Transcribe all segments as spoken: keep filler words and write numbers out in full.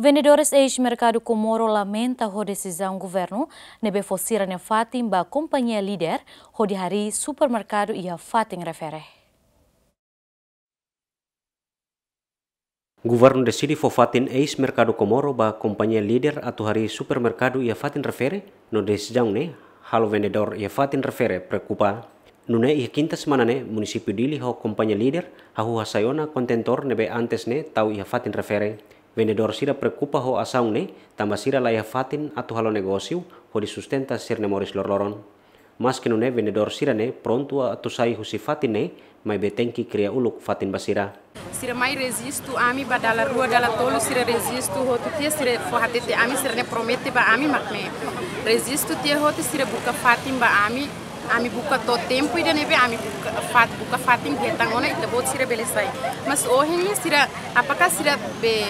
Vendedores eis Merkadu Comoro lamenta ho desizaun governu ne'ebé fó sira-nia fatin ba kompañia Líder hodi harii supermerkadu iha fatin refere. Governu deside fó fatin eis Merkadu Comoro ba kompañia Líder atu harii supermerkadu iha fatin refere, no desizaun ne'e halo vendedór iha fatin refere preokupa. Nune'e iha kinta semana ne'e, munisípiu Dili ho kompañia Líder hahú hasai ona kontentór ne'ebé antes ne'e tau iha fatin refere. Vendedór sira preokupa ho asaun ne'e, tanba sira la iha fatin atu halo negósiu hodi sustenta sira-nia moris loroloron. Maske nune'e, vendedór sira-ne'e prontu atu sai husi fatin ne'e, maibé tenke kria uluk fatin ba sira. Sira mai rejistu ami ba dala rua, dala tolu, sira rejistu hotu tiha, sira fó hatete ami, sira-ne'e promete ba ami mak ne'e. Rejistu tiha hotu, sira buka fatin ba ami, ami buka to'o tempu ida ne'ebé ami buka fat-, buka fatin hetan ona ita-boot sira bele sai. Mas ohin ne'e sira, apakah sira be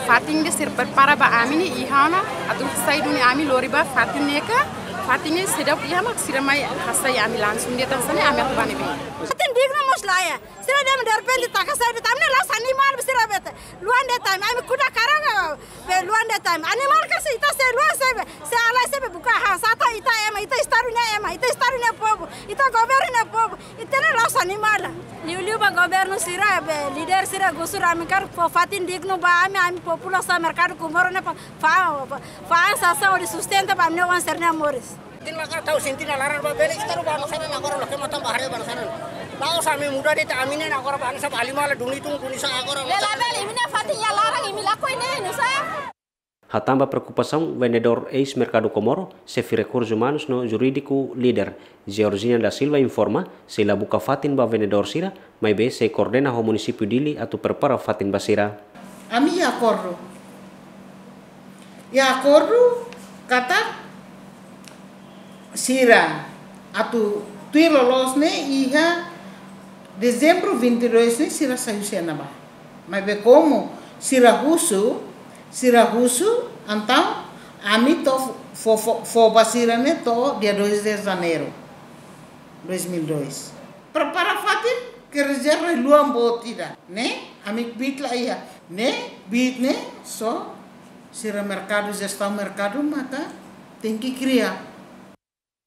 fatin ida sira prepara ba ami ne'e iha ona, atu sai duni ami lori ba fatin ne'e ka, fatin ne'e seidauk iha mak sira mai hasai ami langsung de'it hanesan ne'e ami atu bá ne'ebé. Fatin dignu mós la iha. Sira dehan derrepente taka sai de'it, ami ne'e la'ós animál be sira bete. Luan de'it ami, ami kuda karang, be luan de'it ami. Animál ka se ita sei luan sei be, sei halai sei be buka han sata ita ema, ita estadu nia ema, ita estadu nia povu, ita governu nia povu, ita ne'e la'ós animál. Liuliu ba governu sira be, líder sira gusur ami hakarak fó fatin dignu ba ami, ami populasaun Merkadu Comoro ne'e fa'an, fa'an sasán hodi sustenta ba ami-nia oan sira-nia moris. Tin maka tau sinti na laran ba bele estadu ba nasaran agora loke matan ba haree ba nasaran. La'ós ami muda de'it ami ne'e agora ba hanesan ba animál duni tun duni sá agora. Bele bele imi-nia fatin iha laran imi lakohi ne'e nusá. Hatán ba preokupasaun vendedór eis Merkadu Comoro, xefe rekursus umanus no jurídiku Líder, Georgina da Silva informa, sei la buka fatin ba vendedór sira, maibé sei koordena ho munisípiu Dili atu prepara fatin ba sira. Ami iha akordu. Iha akordu katak sira atu tuir loloos ne'e iha Dezembru vinte e dois ne'e sira sai husi ne'ebá. Maibé komu sira husu, sira husu, entaun ami to'o fó, fó, fó ba sira ne'e to'o dia dois de Janeiro dois mil e dois. Prepara fatin ke rezerva luan boot ida. Ne'e, ami kbiit la iha. Ne'e, kbiit ne'e, só sira merkadu, jestaun merkadu, maka tenke kria.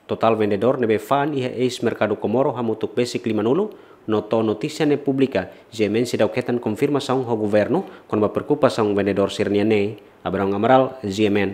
Totál vendedór ne'ebé fa'an iha eis Merkadu Comoro hamutuk besik limanulu, no to'o notísia ne'e publika, G M N seidauk hetan konfirmasaun ho governu, kona-ba preokupasaun vendedór sira-nian ne'e. Abraham Amaral, G M N.